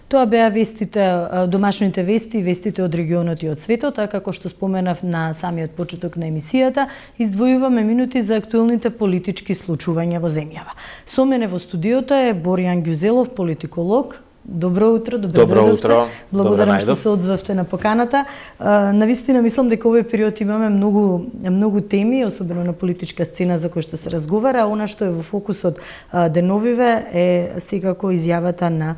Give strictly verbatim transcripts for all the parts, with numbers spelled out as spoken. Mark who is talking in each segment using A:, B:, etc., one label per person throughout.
A: Тоа беа вестите, домашните вести, вестите од регионот и од светот, а како што споменав на самиот почеток на емисијата, издвојуваме минути за актуелните политички случувања во земјава. Со мене во студиото е Боријан Ѓузелов, политиколог. Добро утро, добро,
B: добро утро.
A: Благодарам што се одзвавте на поканата. Навистина мислам дека овој период имаме многу многу теми, особено на политичка сцена за кој што се разговара, а она што е во фокусот деновиве е секако изјавата на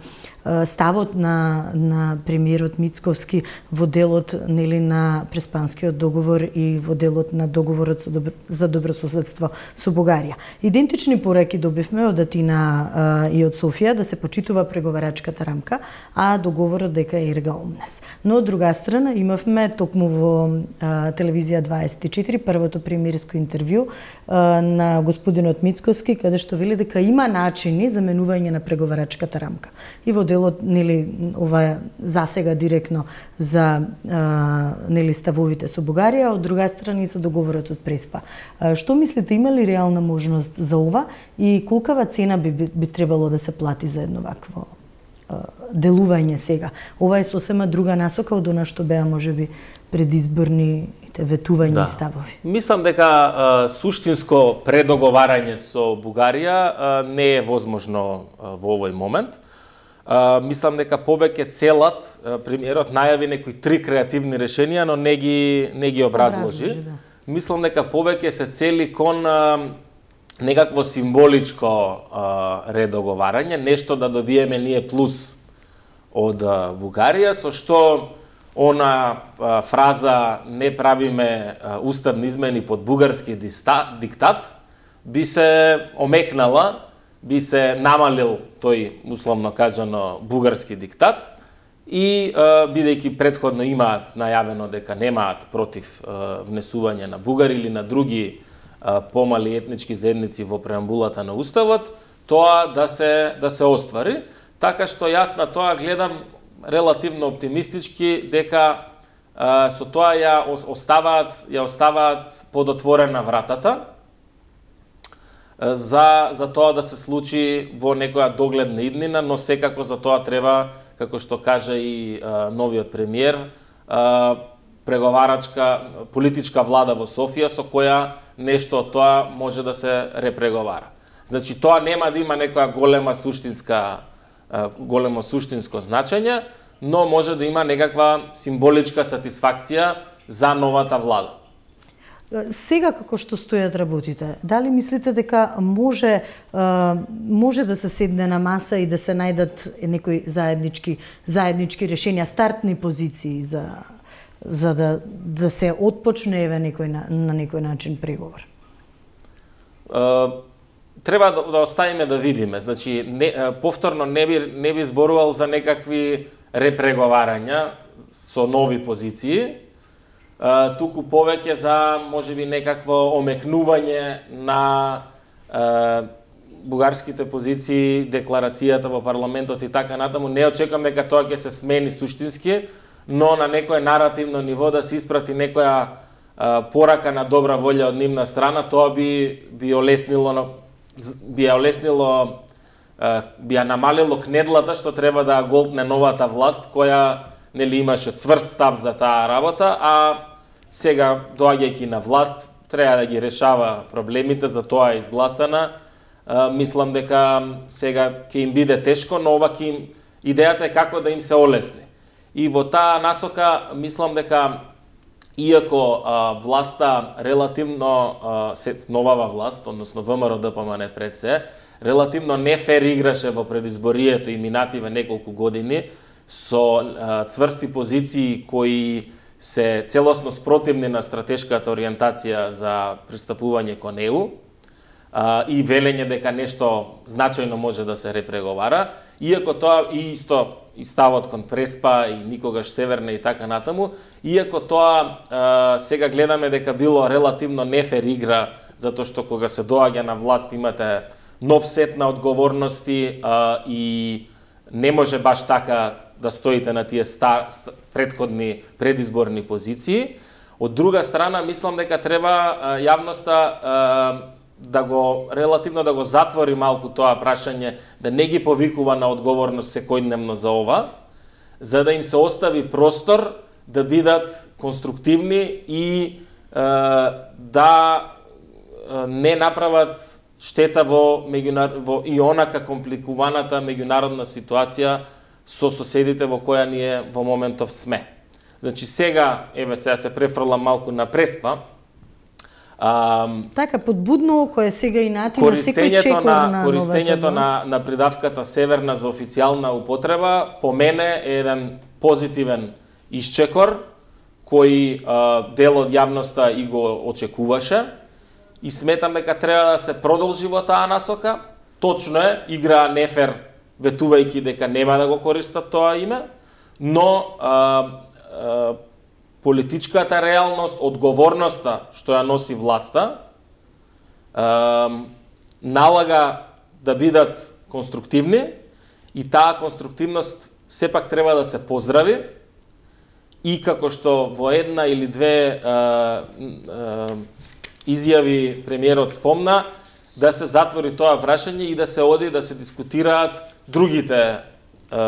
A: ставот на на премиерот Мицковски во делот нели на Преспанскиот договор и во делот на договорот со добро, за добрососедство со Бугарија. Идентични пораки добивме од Атина и од Софија да се почитува преговарачката рамка, а договорот дека е ерга омнес. Но од друга страна имавме токму во а, телевизија дваесет и четири првото премиерско интервју а, на господинот Мицковски, каде што вели дека има начини за менување на преговарачката рамка. И во делот нели ова засега директно за а, нели ставовите со Бугарија, од друга страна и за договорот од Преспа. А, што мислите, има ли реална можност за ова и колкава цена би, би, би требало да се плати за едно вакво делување сега? Ова е сосема друга насока од она што беа можеби предизборните ветувања да. И ставови.
B: Мислам дека а, суштинско предоговарање со Бугарија а, не е возможно а, во овој момент. А, мислам дека повеќе целат а, премиерот најави некои три креативни решенија, но не ги не ги образложи. образложи да. Мислам дека повеќе се цели кон а, некакво символичко а, редоговарање, нешто да добиеме ние плюс од а, Бугарија, со што она а, фраза не правиме а, уставни измени под бугарски диста, диктат би се омекнала, би се намалил тој, условно кажано, бугарски диктат и а, бидејќи претходно имаат најавено дека немаат против а, внесување на бугари или на други помали етнички заедници во преамбулата на Уставот, тоа да се да се оствари, така што јас на тоа гледам релативно оптимистички дека а, со тоа ја оставаат ја оставаат подотворена вратата а, за за тоа да се случи во некоја догледна иднина, но секако за тоа треба, како што кажа и а, новиот премиер, а, преговарачка политичка влада во Софија со која нешто од тоа може да се репреговара. Значи тоа нема да има некоја голема суштинска големо суштинско значење, но може да има некаква символичка сатисфакција за новата влада.
A: Сега како што стојат работите, дали мислите дека може може да се седне на маса и да се најдат некои заеднички заеднички решенија, стартни позиции за за да да се отпочне еве некој на, на некој начин преговор?
B: Uh, треба да, да оставиме да видиме. Значи не, повторно не би не би зборувал за некакви репреговарања со нови позиции. Uh, туку повеќе за можеби некакво омекнување на uh, бугарските позиции, декларацијата во парламентот и така натаму. Не очекувам дека тоа ќе се смени суштински, но на некое наративно ниво да се испрати некоја а, порака на добра волја од нивна страна, тоа би би олеснило би ја олеснило а, би ја намалило кнедлата што треба да голтне новата власт, која нели имаше цврст став за таа работа, а сега доаѓајќи на власт треба да ги решава проблемите, за тоа е изгласана. А, мислам дека сега ќе им биде тешко, но ова ќе им идејата е како да им се олесни. И во таа насока мислам дека иако а, власта релативно а, се новава власт, односно ВМРО-ДПМН пред се, релативно нефер играше во предизборието и минативе неколку години со а, цврсти позиции кои се целосно спротивни на стратешката ориентација за пристапување кон Е У а, и велење дека нешто значајно може да се репреговара, иако тоа и исто и ставот кон Преспа и никогаш Северна и така натаму, иако тоа а, сега гледаме дека било релативно нефер игра, затоа што кога се доаѓа на власт имате нов сет на одговорности а, и не може баш така да стоите на тие стар, предходни предизборни позиции. Од друга страна, мислам дека треба а, јавноста а, да го релативно да го затвори малку тоа прашање, да не ги повикува на одговорност секојдневно за ова, за да им се остави простор да бидат конструктивни и е, да е, не направат штета во, меѓунар... во и онака компликуваната меѓународна ситуација со соседите во која ние во моментов сме. Значи сега, еве сега се префрлам малку на Преспа. А,
A: така подбудно кој сега и натина секој чекор на,
B: на користењето на на придавката северна за официјална употреба по мене е еден позитивен исчекор кој а, дел од јавноста и го очекуваше и сметам дека треба да се продолжи во таа насока. Точно е, игра нефер ветувајќи дека нема да го користат тоа име, но а, а, политичката реалност, одговорноста што ја носи власта, е, налага да бидат конструктивни и таа конструктивност сепак треба да се поздрави и како што во една или две е, е, изјави премиерот спомна, да се затвори тоа прашање и да се оди да се дискутираат другите е,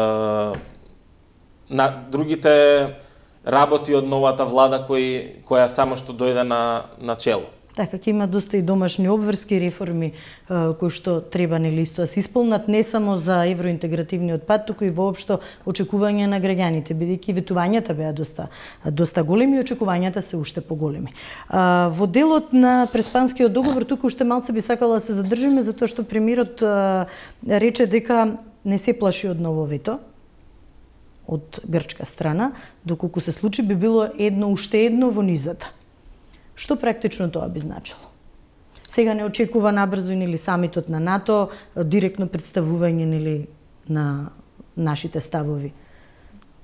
B: на другите работи од новата влада кој, која само што дојде на, на чело.
A: Така, ќе има доста и домашни обврски реформи кои што треба нели исто да се исполнат не само за евроинтегративниот пат, туку и воопшто очекување на граѓаните, бидејќи ветувањата беа доста доста големи и очекувањата се уште поголеми. Во делот на Преспанскиот договор туку уште малце би сакала да се задржиме затоа што премиерот рече дека не се плаши од ново вето од грчка страна, доколку се случи би било едно уште едно во низата. Што практично тоа би значило? Сега не очекува набрзо нели самитот на НАТО, директно представување нели на нашите ставови.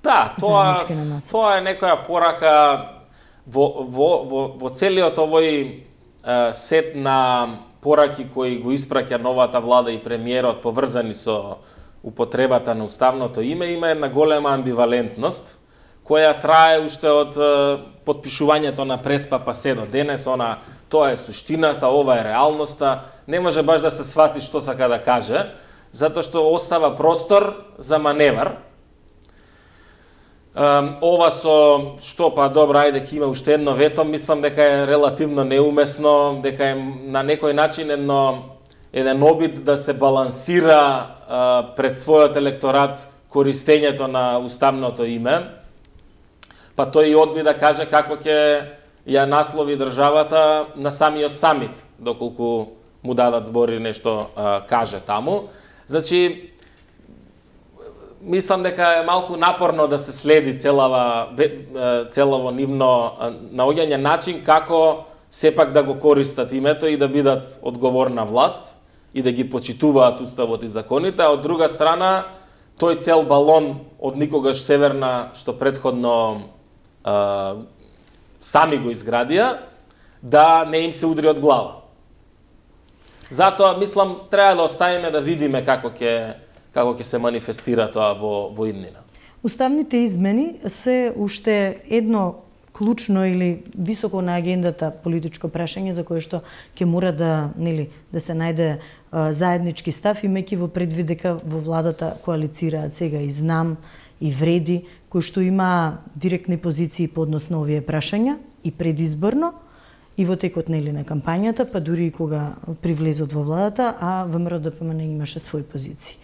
B: Да, тоа тоа е некоја порака во во во, во целиот овој е, сет на пораки кои го испраќа новата влада и премиерот поврзани со употребата на уставното име, има една голема амбивалентност, која трае уште од е, подпишувањето на Преспа па се до денес, она, тоа е суштината, ова е реалноста, не може баш да се свати што сака да каже, затоа што остава простор за маневар. Е, ова со, што па добро, ајде ќе има уште едно вето, мислам дека е релативно неумесно, дека е на некој начин едно еден обид да се балансира а, пред својот електорат користењето на уставното име, па тој и одби да каже како ќе ја наслови државата на самиот самит, доколку му дадат збори нешто а, каже таму. Значи, мислам дека е малку напорно да се следи целава, целово нивно наоѓање начин како сепак да го користат името и да бидат одговорна власт и да ги почитуваат уставот и законите, а од друга страна тој цел балон од никогаш северна што предходно а, сами го изградија, да не им се удри од глава. Затоа мислам треба да оставиме да видиме како ќе како ќе се манифестира тоа во во иднина.
A: Уставните измени се уште едно клучно или високо на агендата политичко прашање за кое што ќе мора да нели да се најде а, заеднички став, имајќи во предвид дека во владата коалицираат сега и Знам и Вреди, кои што има директни позиции по однос на овие прашања и предизборно и во текот нели на кампањата, па дури и кога привлезот во владата, а ВМРО Д П М Н имаше своји позиции.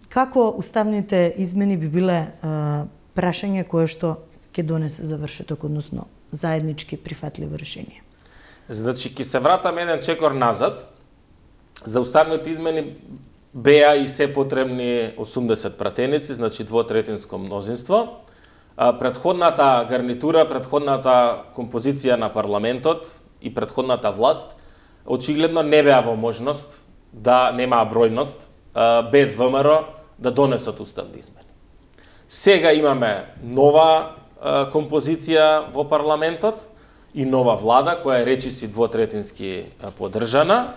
A: Како уставните измени би биле а, прашање кое што ќе донесе завршеток, односно заеднички прифатливо решение?
B: Значи, ќе се вратам еден чекор назад. За уставните измени беа и се потребни осумдесет пратеници, значи двотретинско мнозинство. Предходната гарнитура, предходната композиција на парламентот и предходната власт очигледно не беа во можност да немаа бројност без ВМРО да донесат уставни измени. Сега имаме нова композиција во парламентот и нова влада која е речиси двотретински поддржана.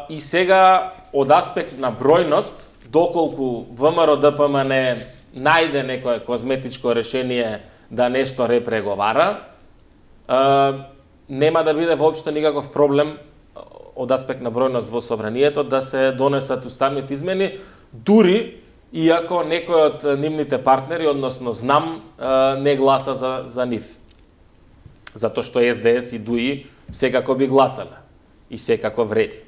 B: И сега од аспект на бројност, доколку ВМРО Д П М Н најде некое козметичко решение да нешто репреговара, нема да биде воопшто никаков проблем од аспект на бројност во собранието да се донесат уставните измени, дури иако некој од нивните партнери, односно знам, не гласа за, за нив. Затоа што Ес Де Ес и ДУИ секако би гласале и секако вреди.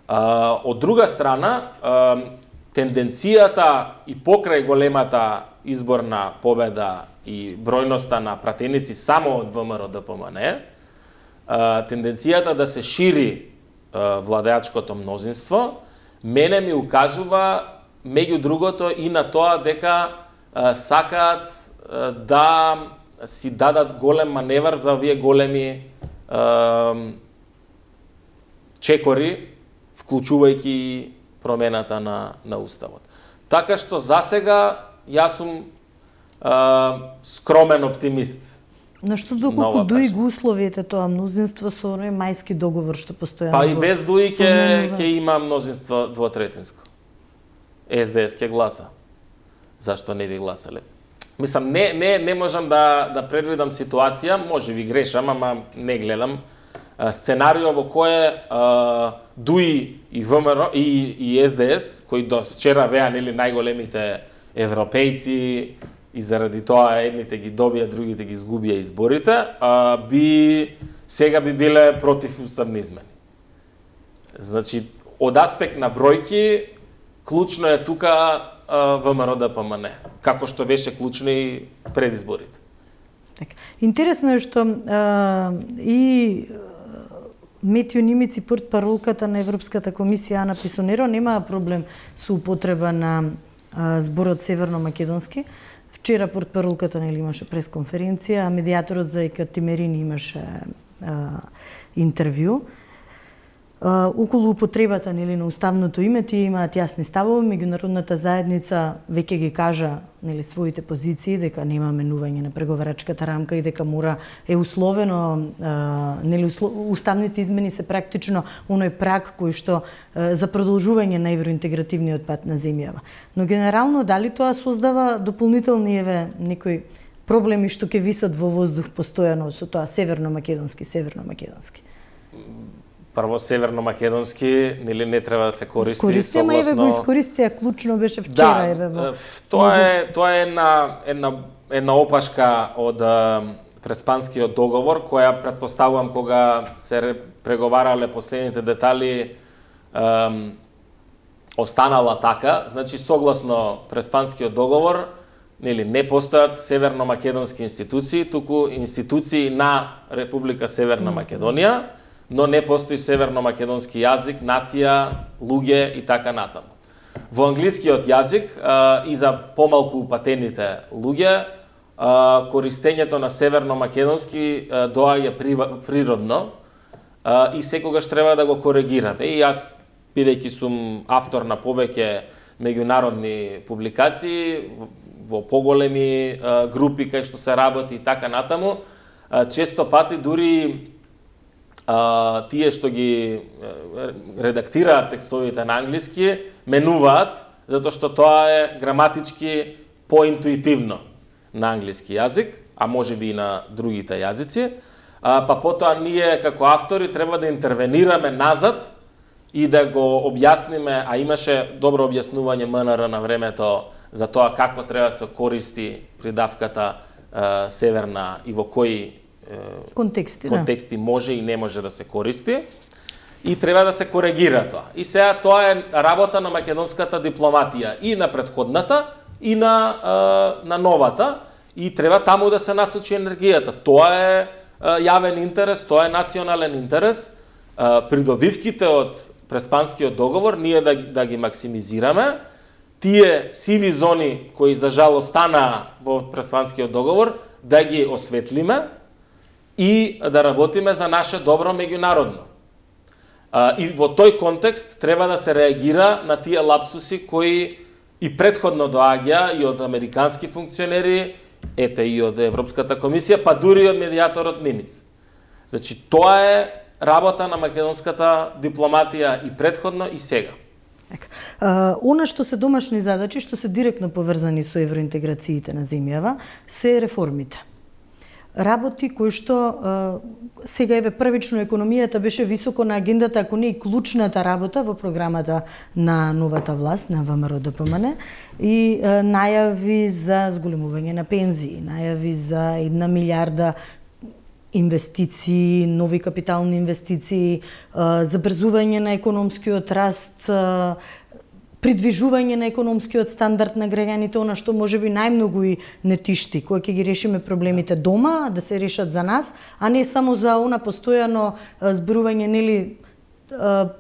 B: А, од друга страна, а, тенденцијата и покрај големата изборна победа и бројноста на пратеници само од Вэ Ем Ер О Д П М Н, а, тенденцијата да се шири а, владеачкото мнозинство, мене ми укажува меѓу другото и на тоа дека а, сакаат а, да си дадат голем маневар за овие големи а, чекори, вклучувајќи промената на, на Уставот. Така што засега јас сум а, скромен оптимист.
A: На што доколку ДУИ го условиете тоа мнозинство со оној мајски договор што постојано?
B: Па и без ДУИ ќе ќе има мнозинство двотретинско. Ес Де Ес ќе гласа. Зашто не би гласале? Мислам, не, не, не можам да, да предвидам ситуација, може би грешам, ама не гледам, а, сценарио во кое а, ДУИ и Вэ Ем Ер О и, и Ес Де Ес, кои до вчера беа нели најголемите европејци и заради тоа едните ги добија, другите ги изгубија изборите, а, би сега би биле против уставни измени. Значи, од аспект на бројки, клучно е тука Вэ Ем Ер О Д П М Н, како што беше клучно и пред изборите.
A: Така. Интересно е што а, и Метјо Нимиц и портпаролката на Европската комисија Ана Писонеро немаа проблем со употреба на а, зборот северно-македонски. Вчера портпаролката нели имаше пресконференција, а медијаторот за Екатимерин имаше а, интервју. Uh, околу употребата нели на уставното име тие имаат јасни ставови, меѓународната заедница веќе ги кажа нели своите позиции дека нема менување на преговарачката рамка и дека мора е условено uh, нели уставните измени се практично оној праг кој што uh, за продолжување на евроинтегративниот пат на земјава. Но генерално дали тоа создава дополнителни еве некои проблеми што ќе висат во воздух постојано со тоа северно-македонски, северно-македонски?
B: Прво северно-македонски нели не треба да се користи
A: Користи,
B: согласно.
A: Користи, еве го искористија, клучно беше вчера,
B: да,
A: еве во.
B: Тоа е тоа е една една една опашка од Преспанскиот договор која претпоставувам кога се преговарале последните детали ем, останала така, значи согласно Преспанскиот договор нели не постојат северно-македонски институции, туку институции на Република Северна Македонија, но не постои северно-македонски јазик, нација, луѓе и така натаму. Во англискиот јазик а, и за помалку упатените луѓе, а, користењето на северно-македонски а, доаѓа природно а, и секогаш треба да го коригираме. И јас, бидејќи сум автор на повеќе меѓународни публикации, во поголеми а, групи кај што се работи и така натаму, а, често пати дури а, тие што ги редактираат текстовите на англиски менуваат, затоа што тоа е граматички поинтуитивно на англиски јазик, а може би и на другите јазици, а, па потоа ние како автори треба да интервенираме назад и да го објасниме, а имаше добро објаснување М Н Р на времето за тоа како треба да се користи придавката е, северна и во кои е,
A: контексти,
B: контексти да. може и не може да се користи и треба да се коригира тоа. И сега тоа е работа на македонската дипломатија и на претходната и на е, на новата и треба таму да се насочи енергијата. Тоа е, е јавен интерес, тоа е национален интерес. Е, придобивките од Преспанскиот договор ние да, да ги максимизираме. Тие сиви зони кои за жал останаа во Преспанскиот договор да ги осветлиме и да работиме за наше добро меѓународно. А, и во тој контекст треба да се реагира на тие лапсуси кои и претходно доаѓа и од американски функционери, ете и од Европската комисија, па дури од медијаторот Нимиц. Значи, тоа е работа на македонската дипломатија и претходно и сега.
A: Uh, она што се домашни задачи, што се директно поврзани со евроинтеграциите на земјава, се реформите. работи кои што сега еве првично економијата беше високо на агендата, ако не и клучната работа во програмата на новата власт, на ВМРО Д П М Н, и најави за зголемување на пензии, најави за една милиарда инвестиции, нови капитални инвестиции, забрзување на економскиот раст, придвижување на економскиот стандард на граѓаните, она што можеби најмногу и не тишти, кога ќе ги решиме проблемите дома, да се решат за нас, а не само за она постојано зборување, нели,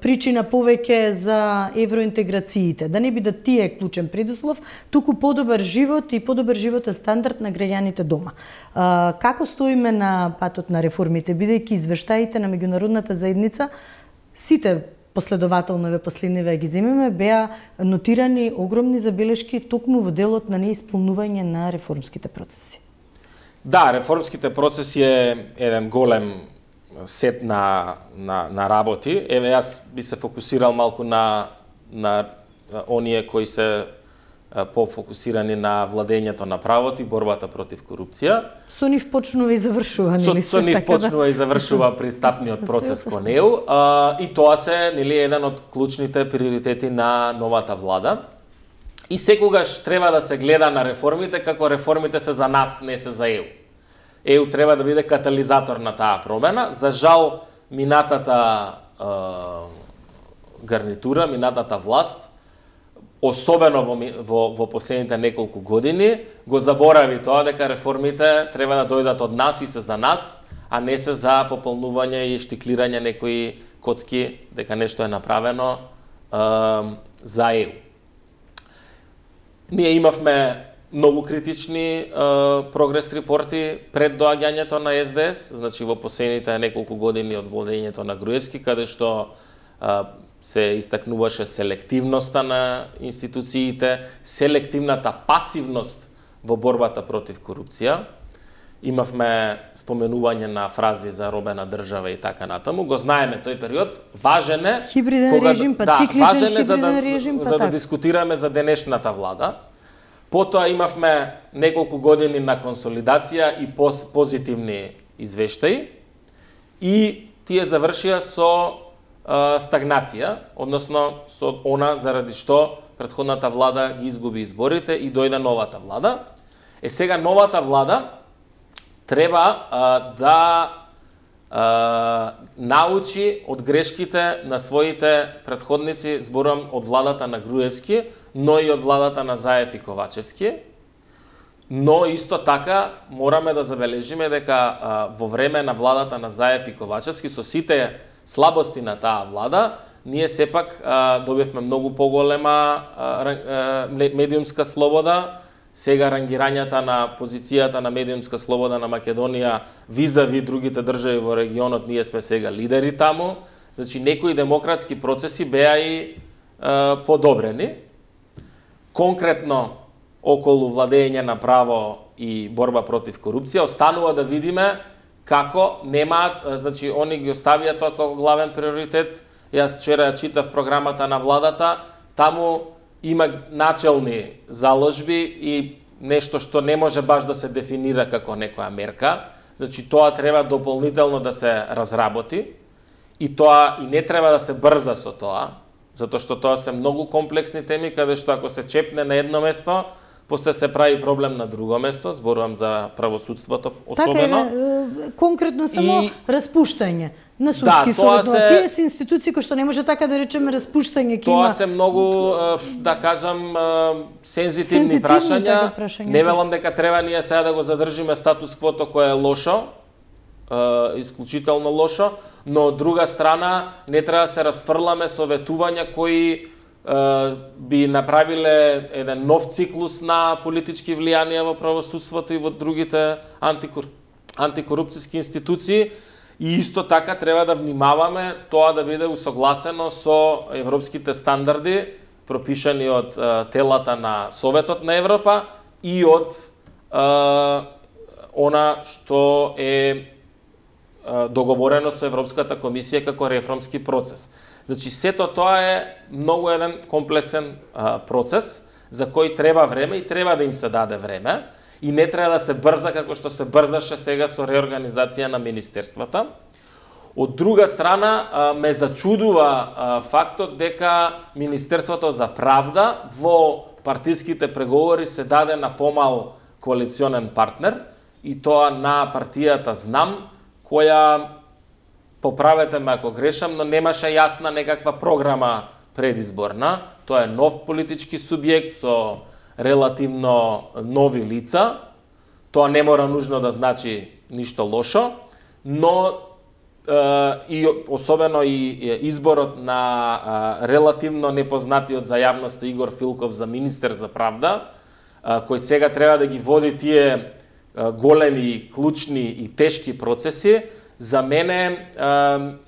A: причина повеќе за евроинтеграциите, да не биде тие клучен предуслов, туку подобар живот и подобар животен стандард на граѓаните дома. Како стоиме на патот на реформите, бидејќи извештаите на меѓународната заедница, сите последователно ве последниве ги земеме, беа нотирани огромни забелешки токму во делот на неисполнување на реформските процеси.
B: Да, реформските процеси е еден голем сет на, на, на работи. Еве, јас би се фокусирал малку на, на оние кои се по-фокусирани на владењето на правото и борбата против корупција.
A: Со нив почнува и завршува, нели?
B: Со, со нив почнува да... и завршува пристапниот процес кон неу. А, и тоа се, нели, еден од клучните приоритети на новата влада. И секогаш треба да се гледа на реформите како реформите се за нас, не се за Е У. Е У треба да биде катализатор на таа промена. За жал, минатата е, гарнитура, минатата власт, особено во, во, во последните неколку години, го заборави тоа дека реформите треба да дојдат од нас и се за нас, а не се за пополнување и штиклирање некои коцки дека нешто е направено е, за Е У. Ние имавме многу критични е, прогрес репорти пред доаѓањето на С Д С, значи во последните неколку години од владењето на Груевски, каде што е, се истакнуваше селективноста на институциите, селективната пасивност во борбата против корупција. Имавме споменување на фрази за робена држава и така натаму. Го знаеме тој период. Важен е
A: хибриден кога, режим, па
B: да,
A: цикличен
B: важен е за да,
A: режим, па
B: за да
A: так.
B: дискутираме за денешната влада. Потоа имавме неколку години на консолидација и поз, позитивни извештаи и тие завршија со стагнација, односно со она заради што претходната влада ги изгуби изборите и дојде новата влада. Е сега новата влада треба а, да а, научи од грешките на своите претходници, зборам од владата на Груевски, но и од владата на Заев и Ковачевски. Но исто така мораме да забележиме дека а, во време на владата на Заев и Ковачевски со сите слабости на таа влада, ние сепак а, добивме многу поголема а, медиумска слобода. Сега рангирањата на позицијата на медиумска слобода на Македонија визави другите држави во регионот, ние сме сега лидери таму. Значи, некои демократски процеси беа и а, подобрени. Конкретно, околу владење на право и борба против корупција, останува да видиме како немаат, значи, они ги оставија тоа како главен приоритет. Јас вчера читав програмата на владата, таму има начелни заложби и нешто што не може баш да се дефинира како некоја мерка. Значи, тоа треба дополнително да се разработи и тоа и не треба да се брза со тоа, затоа што тоа се многу комплексни теми, каде што ако се чепне на едно место, после се прави проблем на друго место, зборувам за правосудството особено.
A: Така е, конкретно само и... распуштање на судски
B: да,
A: суд.
B: се...
A: Тие се институции кои што не може така да речеме распуштање ки
B: Тоа
A: има...
B: се многу, да кажам, сензитивни, сензитивни прашања. Така прашања. Не велам дека треба ние сега да го задржиме статус квото кое е лошо, исклучително лошо, но од друга страна не треба да се расфрламе со ветувања кои би направиле еден нов циклус на политички влијанија во правосудството и во другите антикор... антикорупцијски институции. И исто така треба да внимаваме тоа да биде усогласено со европските стандарди, пропишани од е, телата на Советот на Европа и од е, она што е, е договорено со Европската комисија како реформски процес. Значи, сето тоа е многу еден комплексен а, процес, за кој треба време и треба да им се даде време. И не треба да се брза како што се брзаше сега со реорганизација на министерствата. Од друга страна, ме зачудува фактот дека Министерството за правда во партиските преговори се даде на помал коалиционен партнер, и тоа на партијата Знам, која, поправете ме ако грешам, но немаше јасна некаква програма предизборна. Тоа е нов политички субјект со релативно нови лица. Тоа не мора нужно да значи ништо лошо, но и особено и изборот на релативно непознатиот за јавноста Игор Филков за министер за правда, кој сега треба да ги води тие големи, клучни и тешки процеси, за мене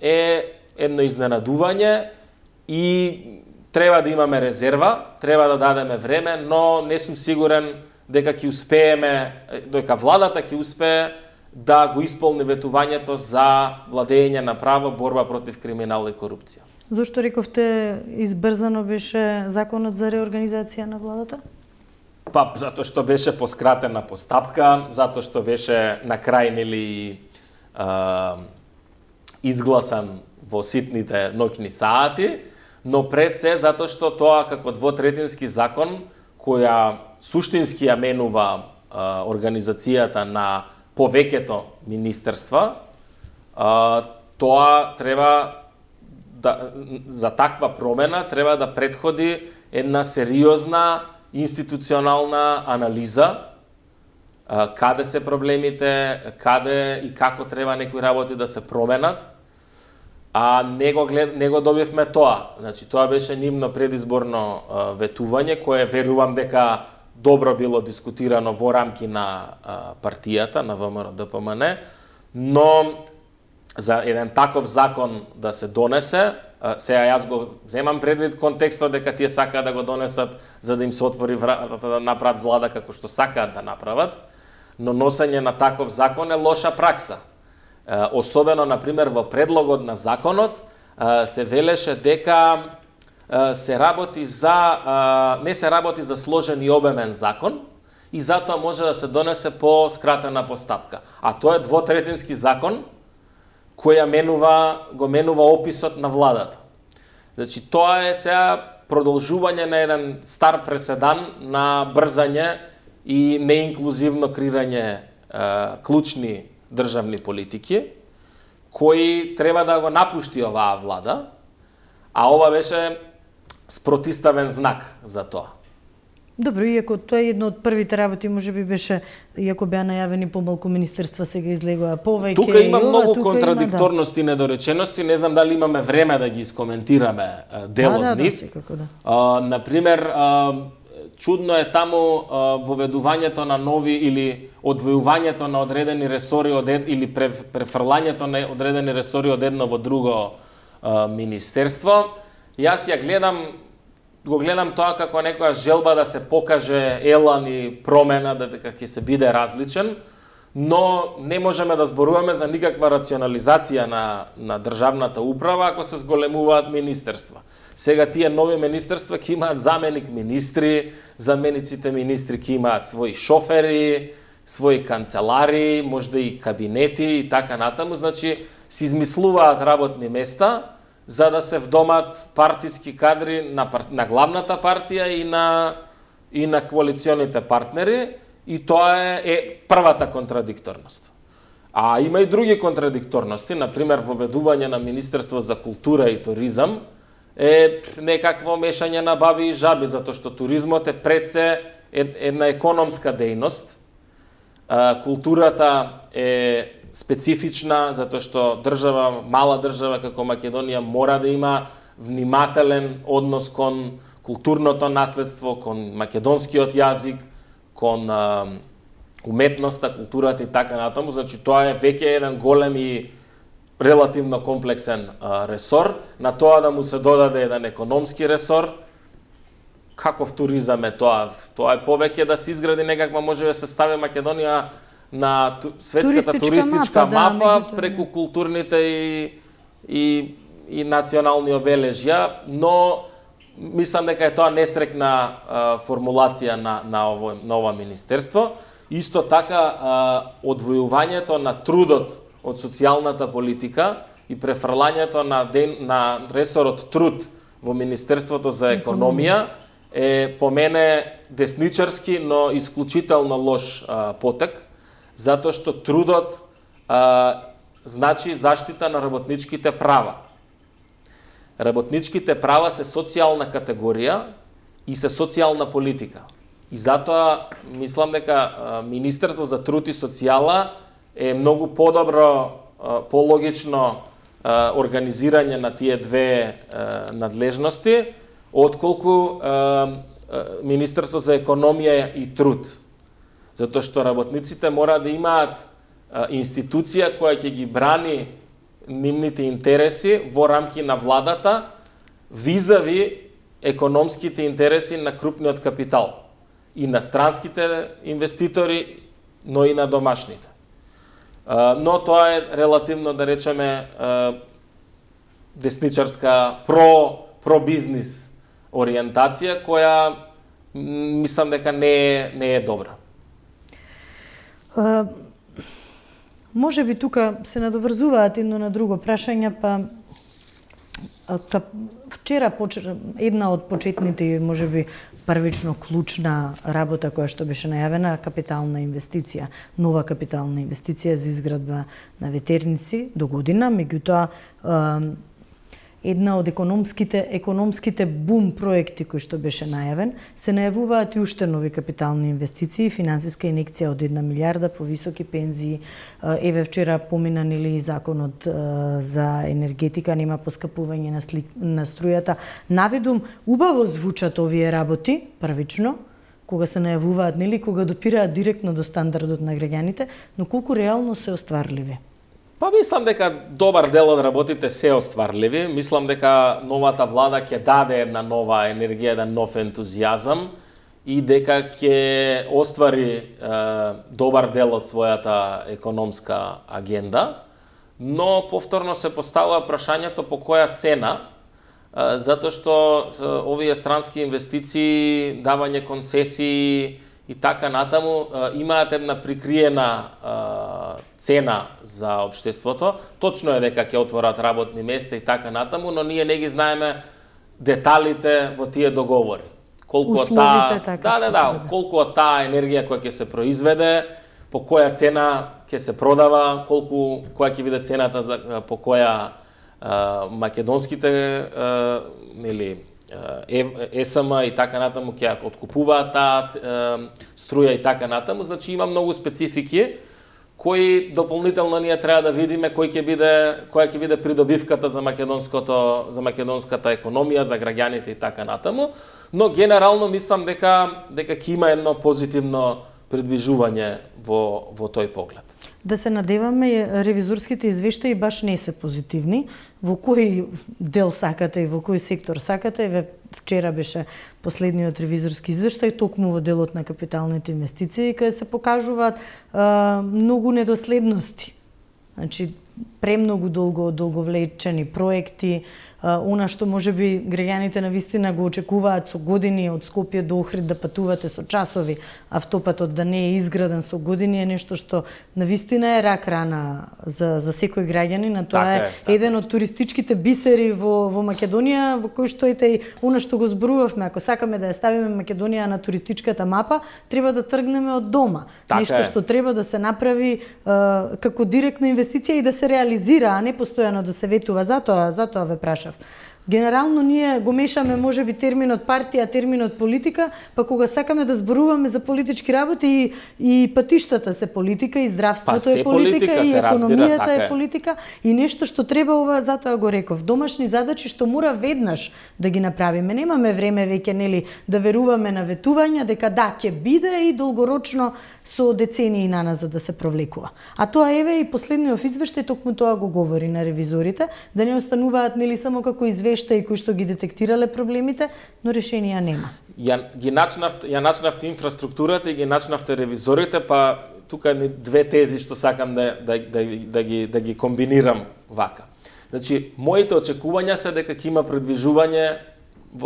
B: е едно изненадување и треба да имаме резерва, треба да дадеме време, но не сум сигурен дека ќе успееме, дека владата ќе успее да го исполни ветувањето за владење на право, борба против криминал и корупција.
A: Зошто рековте избрзано беше законот за реорганизација на владата?
B: Па, затоа што беше поскратена постапка, затоа што беше на крај нели изгласан во ситните ноќни сати, но пред се затоа што тоа како двотретински закон, која суштински ја менува а, организацијата на повеќето министерства, а, тоа треба да, за таква промена треба да претходи една сериозна институционална анализа, а, каде се проблемите, каде и како треба некои работи да се променат, а не го, глед, не го добивме тоа. Значи, тоа беше нивно предизборно а, ветување, кое верувам дека добро било дискутирано во рамки на а, партијата, на ВМРО Д П М Н, но за еден таков закон да се донесе, а, сега јас го земам предвид контекстот дека тие сакаат да го донесат за да им се отвори вратата да направат влада како што сакаат да направат, но носење на таков закон е лоша пракса. А, особено, например, во предлогот на законот а, се велеше дека се работи за не се работи за сложен и обемен закон и затоа може да се донесе по скратена постапка. А тоа е двотретински закон која менува го менува описот на владата. Значи тоа е сега продолжување на еден стар преседан на брзање и неинклузивно креирање е, клучни државни политики кои треба да го напушти оваа влада, а ова беше спротиставен знак за тоа.
A: Добро, иако тоа е едно од првите работи, може би беше, иако беа најавени помалку министерства, сега излегува повеќе.
B: Тука има многу контрадикторности и недоречености, не знам дали имаме време да ги искоментираме дел од
A: да,
B: нив.
A: Да, секако, да.
B: А, например, а, чудно е таму а, воведувањето на нови или одвојувањето на одредени ресори од ед, или префрлањето на одредени ресори од едно во друго а, министерство. Јас ја гледам, го гледам тоа како некоја желба да се покаже елан и промена, дека ќе се биде различен, но не можеме да зборуваме за никаква рационализација на, на државната управа ако се зголемуваат министерства. Сега тие нови министерства ќе имаат заменик министри, замениците министри ќе имаат своји шофери, своји канцелари, можда и кабинети и така натаму, значи се измислуваат работни места за да се вдомат партиски кадри на, на главната партија и на, и на коалиционите партнери, и тоа е, е првата контрадикторност. А има и други контрадикторности, например, воведување на Министерство за култура и туризам е некакво мешање на баби и жаби, затоа што туризмот е пред се една економска дејност. Културата е специфична, затоа што држава, мала држава како Македонија мора да има внимателен однос кон културното наследство, кон македонскиот јазик, кон а, уметноста, културата и така натаму. Значи тоа е веќе еден голем и релативно комплексен а, ресор. На тоа да му се додаде еден економски ресор. Каков туризам е тоа? Тоа е повеќе да се изгради некаква, може да се стави Македонија на светската туристичка, туристичка мапа, мапа да, преку културните и, и, и национални обележја, но мислам дека е тоа несрекна а, формулација на, на, ово, на ова министерство. Исто така, одвојувањето на трудот од социјалната политика и префрлањето на, ден, на ресорот труд во Министерството за економија е по мене десничарски, но исклучително лош а, потек, затоа што трудот а, значи заштита на работничките права. Работничките права се социјална категорија и се социјална политика. И затоа мислам дека Министерство за труд и социјала е многу подобро, пологично организирање на тие две надлежности, отколку Министерство за економија и труд. Затоа што работниците мора да имаат институција која ќе ги брани нивните интереси во рамки на владата визави економските интереси на крупниот капитал и на странските инвеститори, но и на домашните. Но тоа е релативно, да речеме, десничарска про про бизнис ориентација која мислам дека не е не е добра.
A: Uh... Може би тука се надоврзуваат едно на друго прашање, па вчера една од почетните, може би првично клучна работа која што беше најавена, капитална инвестиција, нова капитална инвестиција за изградба на ветерници до година, меѓутоа една од економските економските бум проекти кои што беше најавен, се најавуваат и уште нови капитални инвестиции, финансиска инекција од една милиарда по високи пензии. Еве вчера помина нели законот за енергетика, нема поскапување на, сли, на струјата. Наведум, убаво звучат овие работи првично, кога се најавуваат, нели, кога допираат директно до стандардот на граѓаните, но колку реално се остварливи?
B: Па мислам дека добар дел од работите се остварливи. Мислам дека новата влада ќе даде една нова енергија, еден нов ентузијазам и дека ќе оствари е, добар дел од својата економска агенда, но повторно се поставува прашањето по која цена, е, затоа што е, овие странски инвестиции, давање концесии и така натаму имаат една прикриена а, цена за општеството. Точно е дека ќе отворат работни места и така натаму, но ние не ги знаеме деталите во тие договори. Колку од таа,
A: така,
B: да, да, да, колку од таа енергија која ќе се произведе, по која цена ќе се продава, колку која ќе биде цената за по која а, македонските а, нели Е С М и така натаму ќе откупуваат таа струја и така натаму, значи има многу специфики кои дополнително ние треба да видиме кој ќе биде која ќе биде придобивката за македонското за македонската економија, за граѓаните и така натаму, но генерално мислам дека дека ќе има едно позитивно придвижување во во тој поглед.
A: Да се надеваме, ревизорските извештаи баш не се позитивни. Во кој дел сакате и во кој сектор сакате? Еве вчера беше последниот ревизорски извештај, токму во делот на капиталните инвестиции, каде се покажуваат а, многу недоследности. Значи, премногу долго долговлечени проекти, а, она што можеби граѓаните навистина го очекуваат со години од Скопје до Охрид да патувате со часови, автопатот да не е изграден со години е нешто што навистина е рак рана за за секој граѓанин, а тоа така е, е еден од туристичките бисери во во Македонија, во кој што ете и она што го зборувавме, ако сакаме да ја ставиме Македонија на туристичката мапа, треба да тргнеме од дома. Така нешто е. Што треба да се направи а, како директна инвестиција и да се реализира, а не постојано да се ветува. Затоа, затоа ве прашав. Генерално ние го мешаме можеби терминот партија, терминот политика, па кога сакаме да зборуваме за политички работи и, и патиштата се политика, и здравството па, е политика, политика и економијата разбира, е политика и нешто што треба ова, затоа го реков, домашни задачи што мора веднаш да ги направиме. Немаме време веќе нели да веруваме на ветувања дека да ќе биде и долгорочно со децении наназад да се провлекува. А тоа еве и последниот извештај токму тоа го говори на ревизорите, да не остануваат нели само како извештаи кои што ги детектирале проблемите, но решенија нема.
B: Ја ги начнавте, ја начнавте инфраструктурата и ги начнавте ревизорите, па тука е две тези што сакам да да да, да ги да ги комбинирам вака. Значи, моите очекувања се дека ќе има предвижување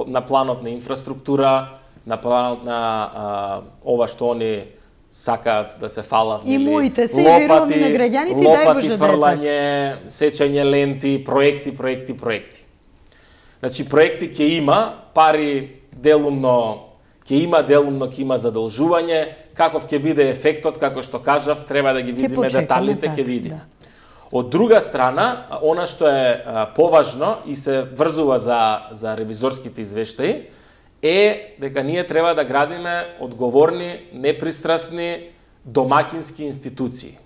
B: на планот на инфраструктура, на планот на а, ова што они сакаат да се фалат,
A: и моите се
B: лопати,
A: на граѓаните,
B: лопати,
A: дај
B: фрлање, сечење ленти, проекти, проекти, проекти. Значи, проекти ќе има, пари делумно ќе има, делумно ќе има задолжување, каков ќе биде ефектот, како што кажав, треба да ги видиме деталите, ќе видиме. Да. Од друга страна, она што е а, поважно и се врзува за, за ревизорските извештаи, е дека ние треба да градиме одговорни, непристрасни, домакински институции.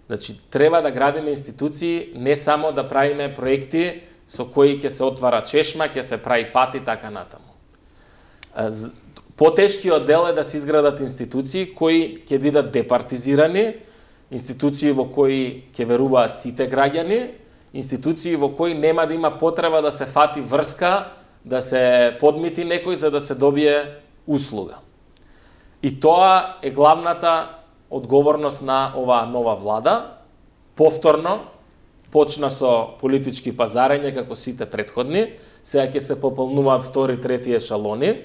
B: Значи, треба да градиме институции, не само да правиме проекти со кои ќе се отвара чешма, ќе се прави пат и така натаму. Потешкиот дел е да се изградат институции кои ќе бидат департизирани, институции во кои ќе веруваат сите граѓани, институции во кои нема да има потреба да се фати врска, да се подмити некој за да се добие услуга. И тоа е главната одговорност на оваа нова влада. Повторно, почна со политички пазарење како сите претходни, сега ќе се пополнуваат втори, трети ешалони.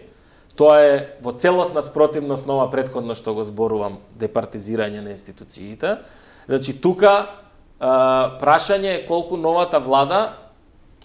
B: Тоа е во целосна спротивност на ова претходно што го зборувам, департизирање на институциите. Значи, тука а, прашање е колку новата влада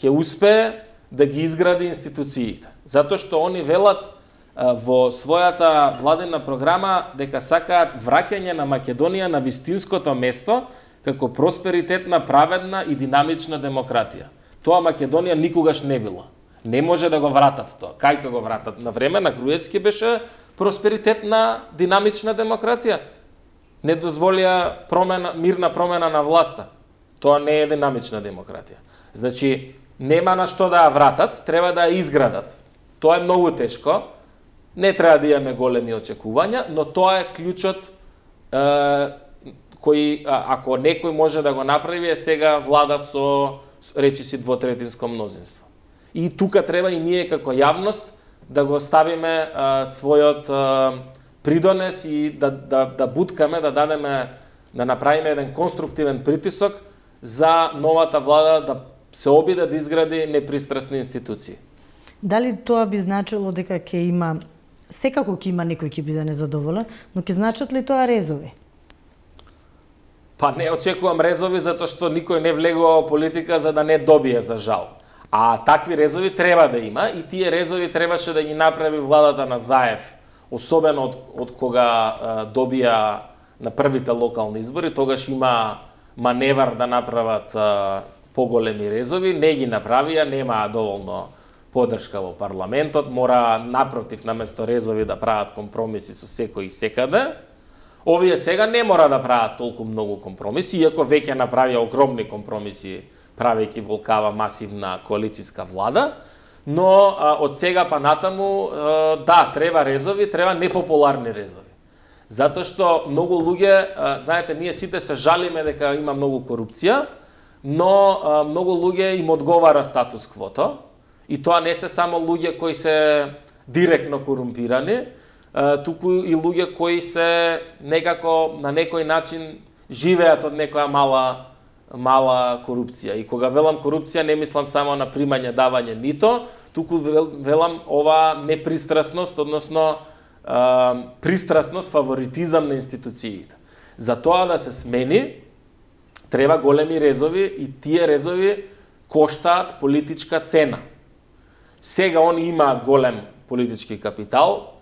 B: ќе успее да ги изгради институциите. Затоа што они велат а, во својата владена програма дека сакаат враќање на Македонија на вистинското место како просперитетна, праведна и динамична демократија. Тоа Македонија никогаш не било. Не може да го вратат тоа. Кај ќе го вратат? На време на Груевски беше просперитетна, динамична демократија. Не дозволија промена, мирна промена на власта. Тоа не е динамична демократија. Значи, нема на што да ја вратат, треба да ја изградат. Тоа е многу тешко. Не треба да имаме големи очекувања, но тоа е клучот е, кој, ако некој може да го направи, е сега влада со, речиси, двотретинско мнозинство. И тука треба и ние како јавност да го ставиме а, својот а, придонес и да, да, да буткаме, да дадеме, да направиме еден конструктивен притисок за новата влада да се обиде да изгради непристрасни институции.
A: Дали тоа би значило дека ќе има, секако ќе има некој ќе биде незадоволен, но ќе значат ли тоа резови?
B: Па не очекувам резови затоа што никој не влегува во политика за да не добие, за жал. А такви резови треба да има и тие резови требаше да ги направи владата на Заев, особено од, од кога а, добија на првите локални избори, тогаш има маневар да направат а, поголеми резови, не ги направија, нема доволно поддршка во парламентот, мора напротив наместо резови да прават компромиси со секој и секаде. Овие сега не мора да прават толку многу компромиси, иако веќе направија огромни компромиси правејќи волкава масивна коалицијска влада, но а, од сега па натаму, а, да, треба резови, треба непопуларни резови. Затоа што многу луѓе, а, знаете, ние сите се жалиме дека има многу корупција, но а, многу луѓе им одговара статус квото, и тоа не се само луѓе кои се директно корумпирани, а, туку и луѓе кои се некако на некој начин живеат од некоја мала мала корупција. И кога велам корупција, не мислам само на примање, давање нито, туку велам ова непристрасност, односно а, пристрасност, фаворитизам на институциите. За тоа да се смени, треба големи резови и тие резови коштаат политичка цена. Сега они имаат голем политички капитал,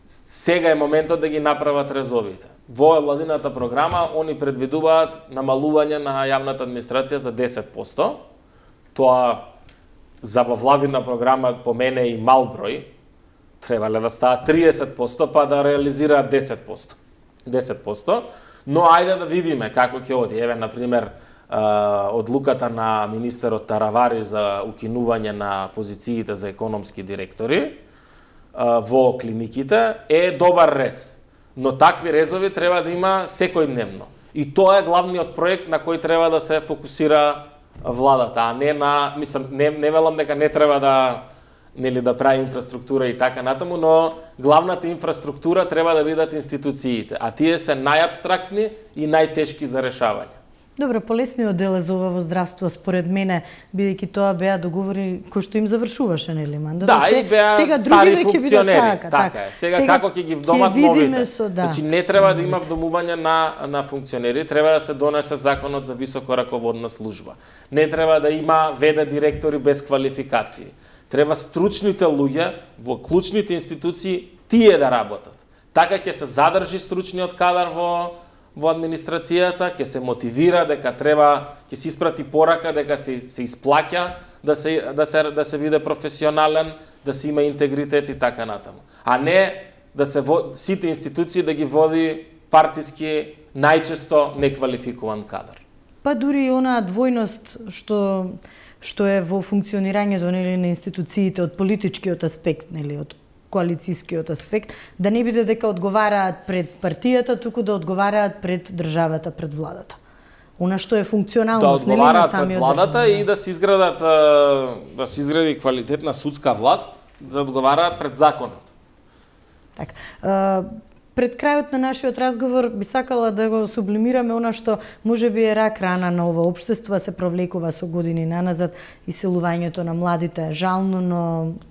B: сега е моментот да ги направат резовите. Во владината програма они предвидуваат намалување на јавната администрација за десет проценти. Тоа за во владина програма по мене и мал број. Требале да стават триесет проценти па да реализираат десет проценти. десет проценти. Но ајде да видиме како ќе оди. Еве, на пример, одлуката на министерот Таравари за укинување на позициите за економски директори во клиниките е добар рез. Но такви резови треба да има секојдневно. И тоа е главниот проект на кој треба да се фокусира владата, а не на, мислам, не, не велам дека не треба да, нели, да прави инфраструктура и така натаму, но главната инфраструктура треба да бидат институциите, а тие се најабстрактни и најтешки за решавање.
A: Добро, полесниот дел е за ова во здравство, според мене, бидејќи тоа беа договори кои што им завршуваше, нели, мандатот.
B: Да, и беа
A: сега
B: стари функционери,
A: така,
B: така, така е. Сега, сега како ќе ги вдомат новите.
A: Со, да,
B: значи не треба да има вдомување на на функционери, треба да се донесе законот за високо раководна служба. Не треба да има вд директори без квалификации. Треба стручните луѓе во клучните институции тие да работат. Така ќе се задржи стручниот кадар во во администрацијата, ќе се мотивира дека треба, ќе се испрати порака дека се се исплаќа да се да се да се биде професионален, да се има интегритет и така натаму. А не да се во, сите институции да ги води партиски најчесто неквалификуван кадар.
A: Па дури и онаа двојност што што е во функционирањето, нели, на институциите од политичкиот аспект, нели, од коалицијскиот аспект, да не биде дека одговараат пред партијата, туку да одговараат пред државата, пред владата. Она што е функционалност,
B: да
A: нели, на самиот
B: пред владата
A: држава,
B: и да се изградат да се изгради квалитетна судска власт, да одговараат пред законот.
A: Така. Пред крајот на нашиот разговор би сакала да го сублимираме она што можеби е рак рана на ова општество, се провлекува со години наназад, иселувањето на младите е жално, но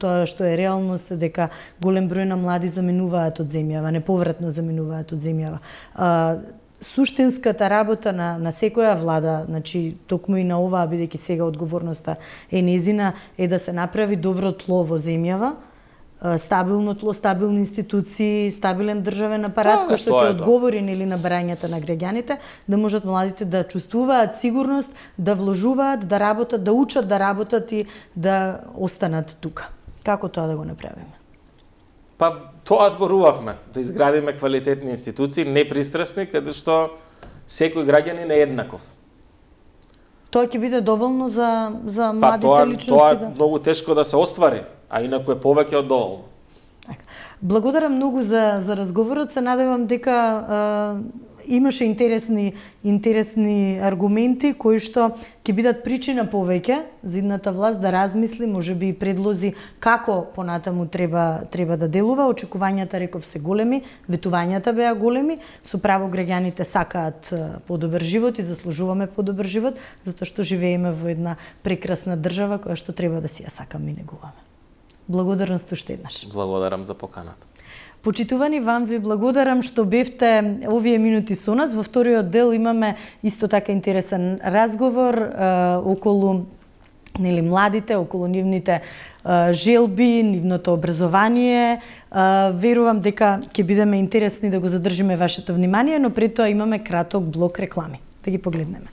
A: тоа што е реалност е дека голем број на млади заминуваат од земјава, неповратно заминуваат од земјава. А, суштинската работа на, на секоја влада, значи токму и на оваа, бидејќи сега одговорноста е незина, е да се направи добро тло во земјава, стабилно тло, стабилни институции, стабилен државен апарат кој што ќе одговори нели на барањата на граѓаните, да можат младите да чувствуваат сигурност, да вложуваат, да работат, да учат да работат и да останат тука. Како тоа да го направиме?
B: Па тоа зборувавме, да изградиме квалитетни институции, непристрасни, каде што секој граѓанин е еднаков.
A: Тоа ќе биде доволно за за
B: па,
A: младите
B: тоа,
A: личности?
B: Тоа е
A: да...
B: многу тешко да се оствари, а инаку е повеќе од доволно.
A: Благодарам многу за за разговорот, се надевам дека а, имаше интересни интересни аргументи кои што ќе бидат причина повеќе за идната власт да размисли, можеби и предлози како понатаму треба треба да делува. Очекувањата, реков, се големи, ветувањата беа големи, со право граѓаните сакаат подобар живот и заслужуваме подобар живот, затоа што живееме во една прекрасна држава која што треба да си ја сакаме и негуваме. Благодарност уште еднаш.
B: Благодарам за поканата.
A: Почитувани, вам ви благодарам што бевте овие минути со нас. Во вториот дел имаме исто така интересен разговор е, околу нели младите, околу нивните е, желби, нивното образование. Е, верувам дека ќе бидеме интересни да го задржиме вашето внимание, но пред тоа имаме краток блок реклами. Да ги погледнеме.